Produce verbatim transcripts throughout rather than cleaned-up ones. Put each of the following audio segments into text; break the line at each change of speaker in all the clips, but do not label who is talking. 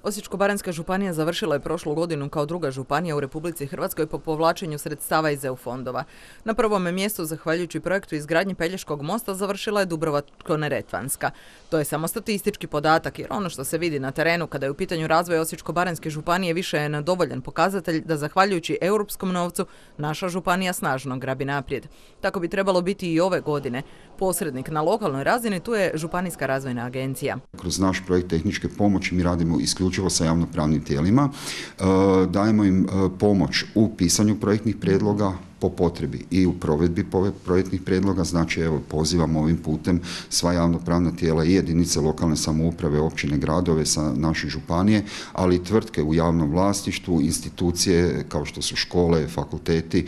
Osječko-baranjska županija završila je prošlu godinu kao druga županija u Republici Hrvatskoj po povlačenju sredstava iz E U fondova. Na prvome mjestu, zahvaljujući projektu izgradnje Pelješkog mosta, završila je Dubrovačko-neretvanska. To je samo statistički podatak, jer ono što se vidi na terenu kada je u pitanju razvoja Osječko-baranjske županije više je dovoljan pokazatelj da zahvaljujući europskom novcu naša županija snažno grabi naprijed. Tako bi trebalo biti i ove godine. Posrednik na lokalnoj razini tu je Županijska razvojna agencija.
Kroz naš projekt tehničke pomoći mi radimo isključivo sa javnopravnim tijelima, dajemo im pomoć u pisanju projektnih prijedloga, po potrebi i u provedbi projektnih prijedloga. Znači, evo, pozivamo ovim putem sva javnopravna tijela i jedinice lokalne samouprave, općine, gradove sa naše županije, ali i tvrtke u javnom vlasništvu, institucije kao što su škole, fakulteti,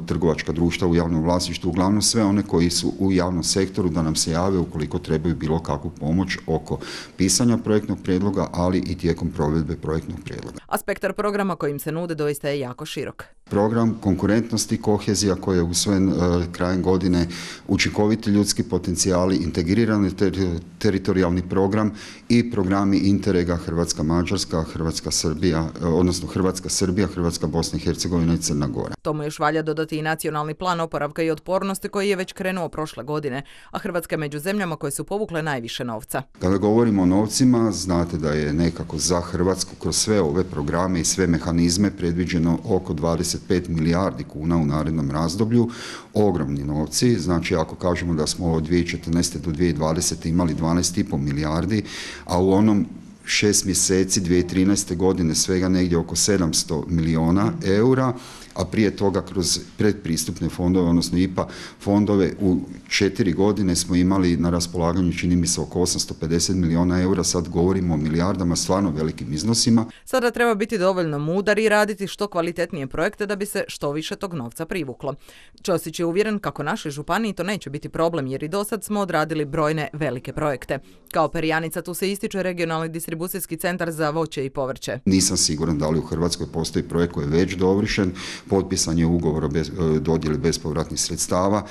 trgovačka društva u javnom vlasništvu, uglavnom sve one koji su u javnom sektoru da nam se jave ukoliko trebaju bilo kakvu pomoć oko pisanja projektnog prijedloga, ali i tijekom provedbe projektnog prijedloga.
A spektar programa kojim se nude doista je jako širok.
Program konkurentnost i kohezija koji je usvojen uh, krajem godine, učinkoviti ljudski potencijali, integrirani ter teritorijalni program i programi Interrega Hrvatska-Mađarska, Hrvatska-Srbija, uh, odnosno Hrvatska-Srbija, Hrvatska-Bosna i Hercegovina i Crna Gora.
Tomu još valja dodati i nacionalni plan oporavka i otpornosti koji je već krenuo prošle godine, a Hrvatska je među zemljama koje su povukle najviše novca.
Kada govorimo o novcima, znate da je nekako za Hrvatsku kroz sve ove programe i sve mehanizme predviđeno oko dvadeset pet milijardi kuna u narednom razdoblju, ogromni novci. Znači, ako kažemo da smo od dvije tisuće četrnaeste do dvije tisuće dvadesete imali dvanaest i pol milijardi, a u onom šest mjeseci dvije tisuće trinaeste godine svega negdje oko sedamsto milijuna eura, a prije toga kroz predpristupne fondove, odnosno I P A fondove, u četiri godine smo imali na raspolaganju, čini mi se, oko osamsto pedeset milijuna eura, sad govorimo o milijardama, stvarno velikim iznosima.
Sada treba biti dovoljno mudar i raditi što kvalitetnije projekte da bi se što više tog novca privuklo. Ćosić je uvjeren kako našoj županiji to neće biti problem, jer i dosad smo odradili brojne velike projekte. Kao perjanica tu se ističe regionalni distribucijski centar za voće i povrće.
Nisam siguran da li u Hrvatskoj postoji projekt koji je već dovršen, potpisan je ugovor o bez, dodjeli bespovratnih sredstava,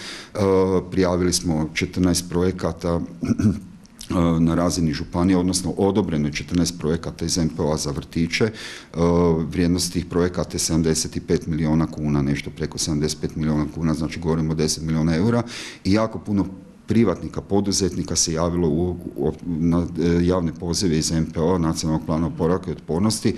prijavili smo četrnaest projekata na razini županije, odnosno odobreno je četrnaest projekata iz M P O-a za vrtiće. Vrijednost tih projekata je sedamdeset pet milijuna kuna, nešto preko sedamdeset pet milijuna kuna, znači govorimo o deset milijuna eura i jako puno privatnika, poduzetnika se javilo u, u, na javne pozive iz M P O, Nacionalnog plana oporavka i otpornosti,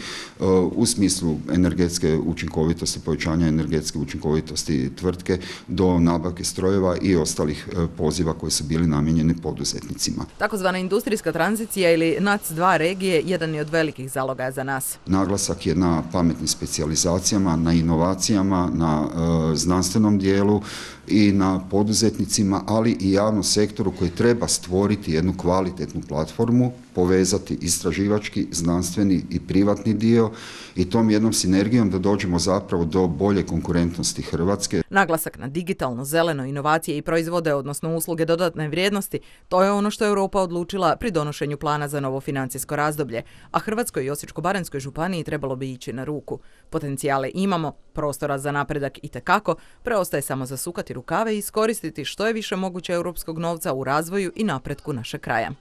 u smislu energetske učinkovitosti, povećanja energetske učinkovitosti tvrtke do nabavke strojeva i ostalih poziva koji su bili namijenjeni poduzetnicima.
Takozvana industrijska tranzicija ili N A C dva regije jedan je od velikih zalogaja za nas.
Naglasak je na pametnim specijalizacijama, na inovacijama, na uh, znanstvenom dijelu i na poduzetnicima, ali i javnom sektoru koji treba stvoriti jednu kvalitetnu platformu, povezati istraživački, znanstveni i privatni dio i tom jednom sinergijom da dođemo zapravo do bolje konkurentnosti Hrvatske.
Naglasak na digitalno, zeleno, inovacije i proizvode, odnosno usluge dodatne vrijednosti, to je ono što je Europa odlučila pri donošenju plana za novo financijsko razdoblje, a Hrvatskoj i Osječko-baranjskoj županiji trebalo bi ići na ruku. Potencijale imamo, prostora za napredak itekako, preostaje samo zasukati rukave i iskoristiti što je više moguće europskog novca u razvoju i napretku našeg kraja.